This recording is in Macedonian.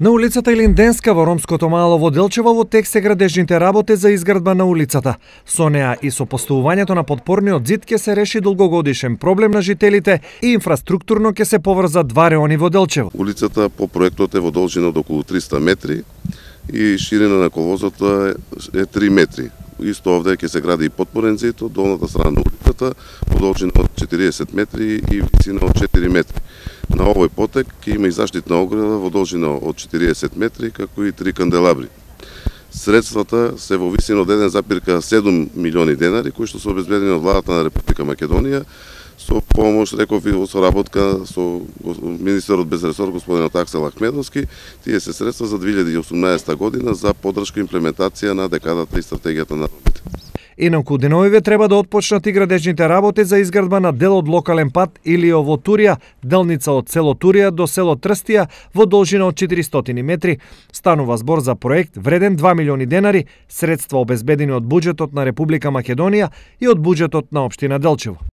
На улицата Илинденска во ромското мало во Делчево во тек се градежните работи за изградба на улицата. Со неа и со поставувањето на подпорниот зид ќе се реши долгогодишен проблем на жителите и инфраструктурно ќе се поврзат два реони во Делчево. Улицата по проектот е во должина од околу 300 метри и ширина на коловозот е 3 метри. Исто овде ќе се гради и подпорен зид од долната страна на улицата во должина од 40 метри и висина од 4 метри. На овој потек ќе има и заштитна ограда во должина од 40 метри, како и 3 канделабри. Средствата се во висина од 1,7 милиони денари, кои што се обезбедени од владата на Република Македонија, со помош, реков и соработка со министерот без ресор господинот Аксел Ахмедовски. Тие се средства за 2018 година за поддршка и имплементација на декадата и стратегијата на ромите. Инаку деновиве треба да отпочнат и градежните работи за изградба на дел од локален пат Илиово Турија, делница од село Турија до село Трстија во должина од 400 метри. Станува збор за проект вреден 2 милиони денари, средства обезбедени од буџетот на Република Македонија и од буџетот на општина Делчево.